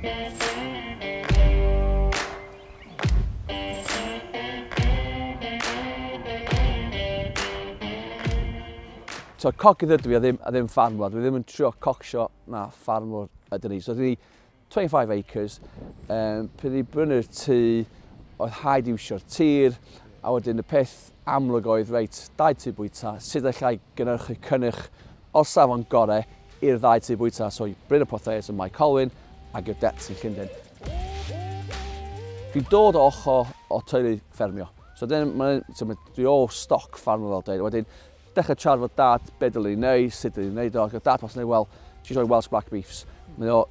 So cogydd ydw i a ddim ffarmwr. Dwi ddim yn trio cocsio na ffarmwr ydyn ni. So dwi 25 acres. Pryd i brynu'r tŷ, oedd rhaid iwsio'r tir, a wedyn y peth amlwg oedd, reit, dau tŷ bwyta, sut allai gynhyrchu cynnyrch o'r safon gorau i'r ddau tŷ bwyta. So i Bryn y Portheius ym Mae Colwyn ac i'r Dets yn Llundain. Dwi'n dod o ochr o teulu ffermio. So, dyn, ma, so ma, dwi o stoc ffarmio fel dweud. Wedyn, dechrau siarad efo Dad, be dylwn ni wneud, sut dylwn ni wneud o. Ac oedd Dad was yn well, she's rhoi Welsh Black Beefs. Mae o,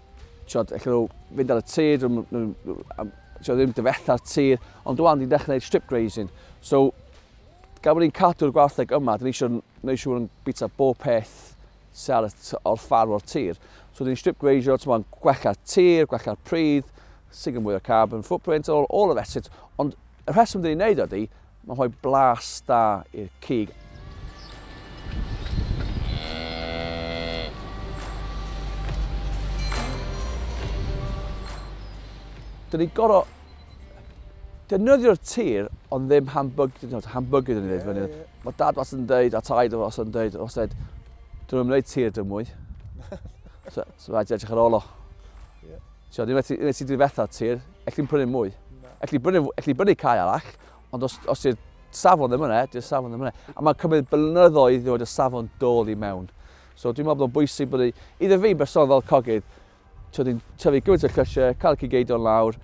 tiod, allan nhw fynd ar y tir, tiod, ddim difetha'r tir, ond dwi'n ni'n dechrau gwneud strip grazing. So, gan bod ni'n cadw'r gwartheg yma, dyn ni eisiau gwneud siŵr yn bita bob peth sydd ar y, o'r ffarm o'r tir. So, dyn ni'n strip grazio, ti'n gwella'r tir, gwella'r pridd, sy'n mwy o carbon footprint, all the rest of it. Ond y rheswm dyn ni'n neud ydy, mae'n rhoi blas da i'r cig. Dyn ni'n gorfod defnyddio'r tir, ond ddim hamburger dyn ni'n dweud fyny. Mae Dad wastad yn dweud, a taid wastad yn dweud, wastad dweud, dyn nhw'n gwneud tir dim mwy. So rhaid i edrych ar ôl o. So, ddim wedi difetha'r tir, elli'n prynu mwy. Elli brynu cae arall, ond os di'r safon ddim yna, di'r safon ddim yna. A mae'n cymryd blynyddoedd i ddod y safon dôl i mewn. So dwi'n meddwl bod o'n bwysig bod i, iddo fi bersonol fel cogydd, ti'n tyfu gymaint o llysiau, cael y cig eidion lawr,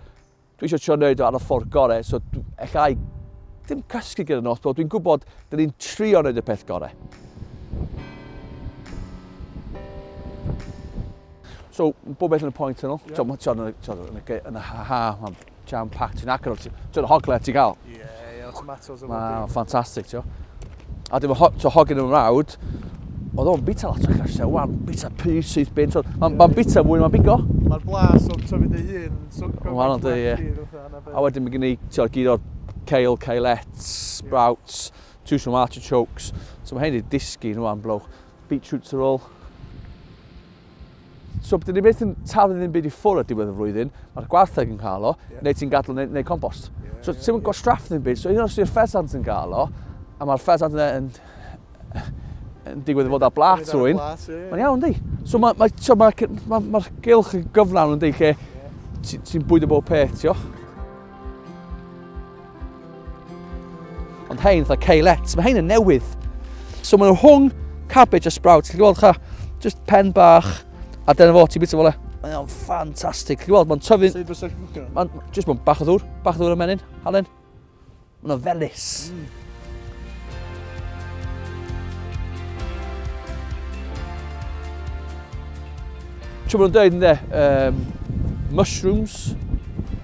dwi eisiau trio wneud o ar y ffordd gorau, so allai ddim cysgu gyda nos, ond dwi'n gwybod dyn ni'n trio wneud y peth gorau. So, bob beth yn y point tunnel. Yeah. So, yn y ha, mae'n jam-packed, ti'n agor, ti'n hogle ti'n gael. Ie, tomatoes o. Mae'n ffantastig, ti'n. A dim so, hogyn yn mrawd, oedd o'n bita lot o llysiau, wan, bita pys syth bin, so, mae'n ma bita mwy, mae'n bigo. Mae'r blas o tyfu dy hun. So, Wahanol, di, ie. A wedyn mae gen i, ti'n gyd o'r kale, kalettes, sprouts, two some artichokes. So mae hyn i disgyn nhw am blow. Beetroots ar ôl. So, dyn ni byth yn taflu ddim byd i ffwrdd ar diwedd y flwyddyn, mae'r gwartheg yn cael o, neu ti'n gadael neu compost. So, ti'n mynd gwastraff ddim byd, so un os yw'r ffesant yn cael o, a mae'r ffesant yna yn digwydd i fod ar blat rhywun, mae'n iawn, di. So mae'r ma, ma, ma, ma, ma gylch yn gyflawn yn di, lle ti'n bwydo bob peth, tio. Ond hein, fatha kalettes, mae hein yn newydd. So maen nhw rhwng cabbage a sprouts, ti'n gweld cha, just pen bach, a dyna fo, ti'n bita fo le. Mae o'n ffantastig. Ti'n gweld, mae'n tyfu. Sut fysa chi'n cwcio? Mae'n just mae'n bach o ddŵr y menyn, halen. Mae'n felys. Ti'n bod yn dweud, ynddo, mushrooms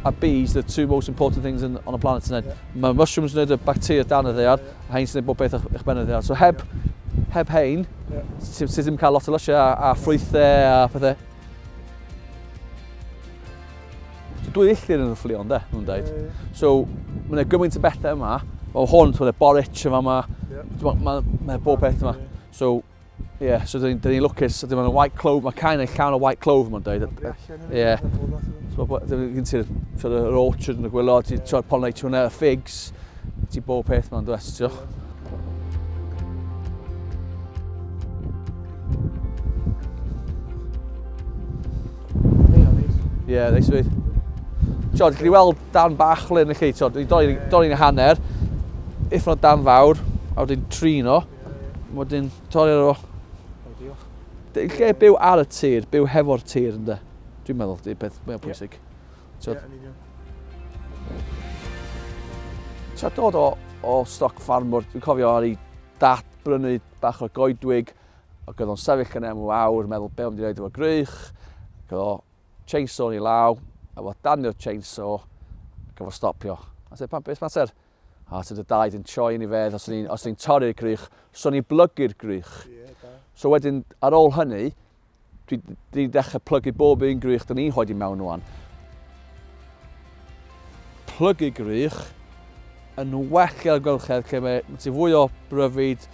a bees, the two most important things on the planet. Yeah. Mae mushrooms yn gwneud y bacteria dan y ddaear, a hein sy'n gwneud bob beth uwch ben y ddaear. So heb hein, ti ddim cael lot o lysiau a ffrwythau a pethau. So 2 filltir yn y fflio, ynddo, nhw'n dweud. So, mae'n gymaint o bethau yma. Mae hwn, ti'n borage yma, mae ma bob peth yma. So, ie, yeah, so dyn ni lwcus, so dyn white clove, mae cain yn llawn o white clove, mae'n dweud. Ie. Yeah. So, gen ti'r sort of orchard yn y gwaelod, ti'n yeah. pollinate hwnna, y figs, ti bob peth ma'n dwest, ti'n. Ie, yeah, neis dweud. Ti'n gallu weld dan bach le yn y lle, ti'n dorri'n hanner, uffern o dan fawr, a wedyn trin o, wedyn torri o. Lle byw ar y tir, byw hefo'r tir, ynddo. Dwi'n meddwl, di'r peth mwyaf pwysig. Ie, yn union. Ti'n dod o stoc ffarmwr, dwi'n cofio ar ei dad brynu bach o goedwig, ac oedd o'n sefyll yn am awr, meddwl be o'n wedi gwneud efo grych, ac oedd o chainsaw yn ei law, a fo danio'r chainsaw, ac efo stopio. A sef, pam, beth mater? A sydd y daid yn troi yn ei fedd, os ni'n torri'r grych, so ni'n blygu'r grych. Ie, da. So wedyn, ar ôl hynny, dwi dechrau plygu bob un grych dyn ni'n hoedi mewn rwan. Plygu grych yn well i'r amgylchedd lle mae ti fwy o bryfid,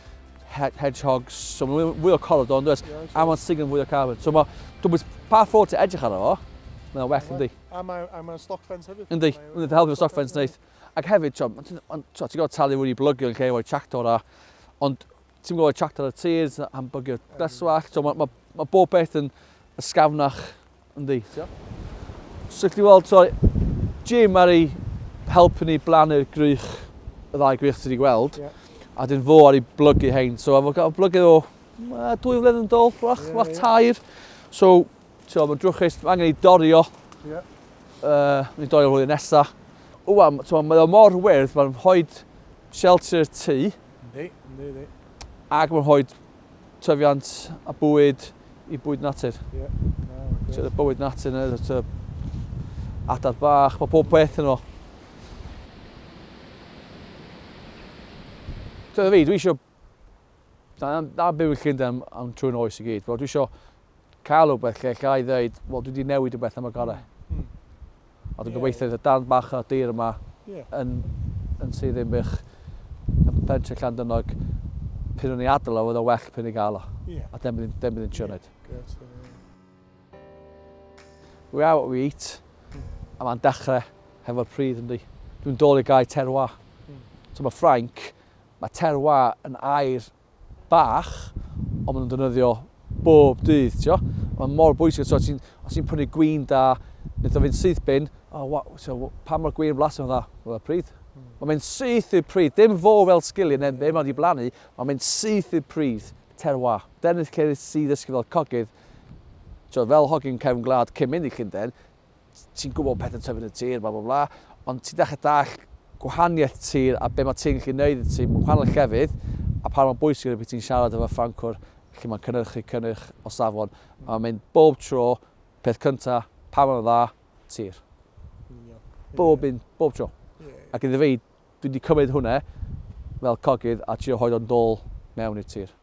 hedgehogs, so mae fwy o corridor, yn does? A mae'n sy'n fwy o carbon. So mae, dwi'n pa ffordd ti'n edrych arno fo, Mae'n well, yndi. A mae'n stock fence hefyd. Yndi, yndi, helpu stock fence neith. Ac hefyd, ti'n gorfod talu fwy i blygio yn lle efo'i tractor a, ond ti'n gwybod tractor ar y tir, am bygio glaswallt, so mae bob beth yn ysgafnach, yndi. So, chdi weld, sorry, Jim ar ei helpu ni blannu'r grych, y ddau grych ti wedi gweld, a dyn fo ar ei blygu hein. So, efo gael blygu o 2 flynedd yn dôl, wrach 3. So, mae'n drwchus, mae angen i dorio. Mae'n i dorio flwyddyn nesaf. Wwan, mae o mor wyrdd, mae'n rhoi shelter i'r tŷ. Yndi. Ac mae'n rhoi tyfiant a bwyd i bwyd natur. Ie. So, bywyd natur, adar bach, mae pob peth yno. So, fi, dwi eisiau... Na byw yn Llundain am trwy'n oes i gyd, dwi eisiau cael rhywbeth lle lle i ddeud, wel, dwi wedi newid rhywbeth am y gorau. A dwi'n gobeithio y darn bach o dir yma yn Sir Ddinbych, yn pentre Llandyrnog, pyn o'n i adael o, oedd o well pyn i gael o. A dim bydd yn trio wneud. We are what we eat, a mae'n dechrau hefo'r pridd, yndi. Dwi'n dod i gael terroir. So mae Ffrainc, mae terroir yn air bach, ond maen nhw'n defnyddio bob dydd, tio. Mae'n mor bwysig, so os ti'n prynu gwin da, wnaeth o fynd syth bin, so, pa mor gwin blasu yn dda? Wel, y pridd. Mae'n mynd syth i'r pridd, dim fo fel sgiliau neu ddim ond i blannu, mae'n mynd syth i'r pridd, terroir. Dyna lle sydd ddysgu fel cogydd, so, fel hogyn cefn gwlad cyn mynd i Llundain, ti'n gwybod pethau'n tyfu yn y tir, bla bla bla, ond ti'n dechrau dallt gwahaniaeth tir a be mae ti'n gallu neud i ti mewn gwahanol llefydd, a pa mor bwysig yw ti'n siarad efo Ffrancwr lle mae'n cynhyrchu cynnyrch o safon. A mae'n mynd bob tro, peth cynta, pa mor dda, tir. Bob un, bob tro. Ac iddo fi, dwi wedi cymryd hwnna fel cogydd a trio rhoid o'n dôl mewn i'r tir.